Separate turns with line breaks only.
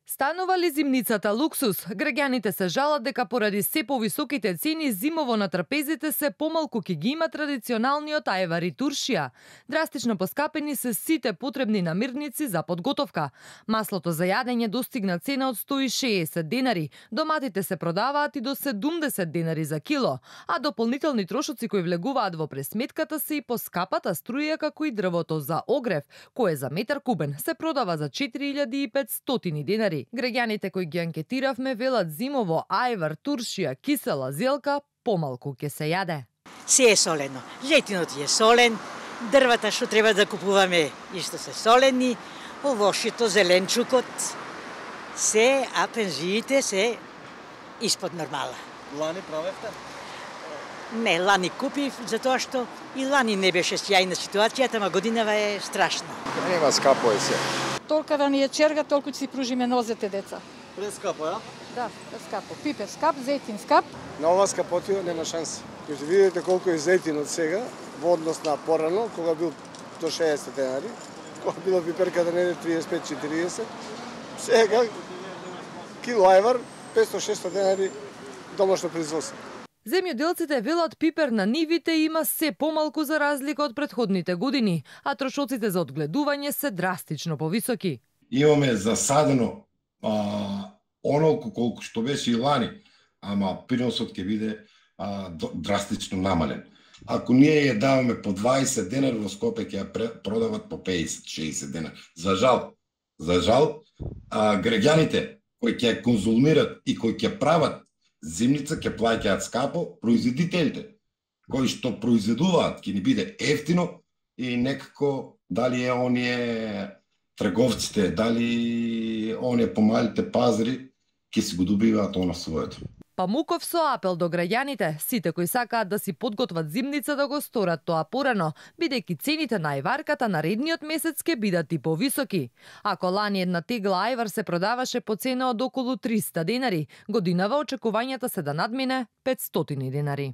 Станува ли зимницата луксус? Граѓаните се жалат дека поради се повисоките цени зимово на трпезите се помалку ќе ги има традиционалниот ајвар и туршија. Драстично поскапени се сите потребни намирници за подготовка. Маслото за јадење достигна цена од 160 денари, доматите се продаваат и до 70 денари за кило, а дополнителни трошоци кои влегуваат во пресметката се и поскапата струја како и дрвото за огрев, кое за метар кубен се продава за 4500 денари. Граѓаните кои ги анкетиравме велат зимово ајвар, туршија, кисела зелка помалку ќе се јаде.
Се е солено. Зетинот е солен, дрвата што треба да купуваме исто се солени, овошјето, зеленчукот, се, а пензиите се испод нормала.
Лани правевте?
Не, лани купив, затоа што и лани не беше сјајна ситуацијата, ама годинава е страшна.
Нема скапо е се.
Толка да ни е черга, толку ќе си пружиме нозете, деца.
Прескапо, ја?
Да, скапо. Пипер скап, зетин скап.
На ова скапотио нема шанса. Ќе видите колку е зетинот сега, во однос на порано, кога бил до 60 денари, кога било пиперката не 35-40, сега кило ајвар 500-600 денари домашно производство.
Земјоделците велат пипер на нивите има се помалку за разлика од претходните години, а трошоците за одгледување се драстично повисоки.
Имаме засадено онолку колку што беше и лани, ама приносот ќе биде драстично намален. Ако ние ја даваме по 20 денари, во Скопје ќе ја продават по 50-60 денари. За жал, граѓаните кои ќе ја конзумират и кои ќе прават зимница ќе плаќаат скапо, производителите кои што произведуваат ќе ни биде ефтино и некако дали е оние трговците, дали оние помалите пазари ќе си го добиваат оно своето.
Памуков со апел до граѓаните, сите кои сакаат да си подготват зимница да го сторат тоа порано, бидејќи цените на ајварката наредниот месец ќе бидат и повисоки. Ако лани една тегла ајвар се продаваше по цена од околу 300 денари, годинава очекувањата се да надмине 500 денари.